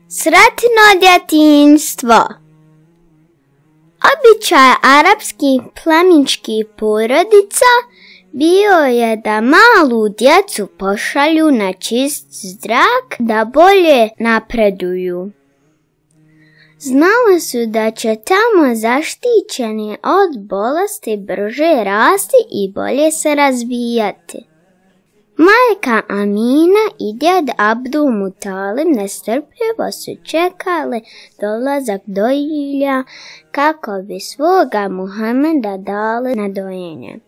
Sretno djetinjstvo. Običaj arapskih plemićkih porodica bio je da malu djecu pošalju na čist zrak da bolje napreduju. Znali su da će tamo zaštićeni od bolesti brže rasti i bolje se razvijati. Majka Amina i djed Abdul Mutalib nestrpljivo su čekali dolazak dojilja kako bi svoga Muhameda dali na dojenje.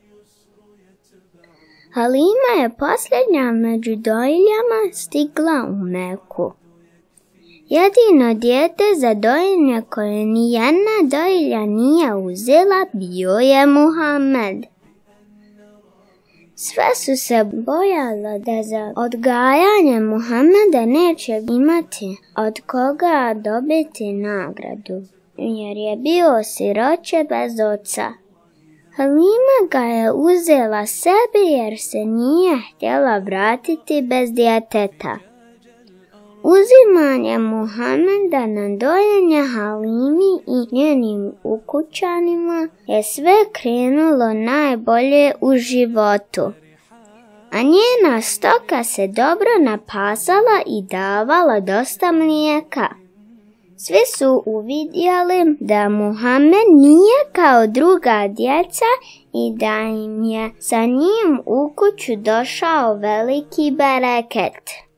Halima je posljednja među dojiljama stigla u Meku. Jedino dijete za dojenje koje nijedna dojilja nije uzela bio je Muhammed. Sve su se bojale da za odgajanje Muhameda neće imati od koga dobiti nagradu, jer je bio siroče bez oca. Halima ga je uzela sebi jer se nije htjela vratiti bez djeteta. Uzimanje Muhameda na dojenje Halimi i njenim ukućanima je sve krenulo najbolje u životu, a njena stoka se dobro napasala i davala dosta mlijeka. Svi su uvidjeli da Muhammed nije kao druga djeca i da im je sa njim u kuću došao veliki bereket.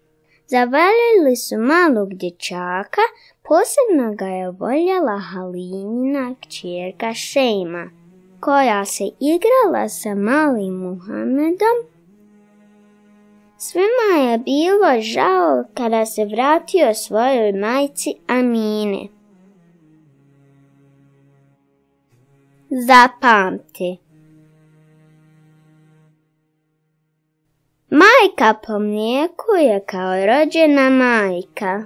Zavalili su malog dječaka, posebno ga je voljela Halimina kćerka Šejma, koja se igrala sa malim Muhammedom. Svima je bilo žao kada se vratio svojoj majci Amine. Zapamti. Majka po mlijeku je kao rođena majka.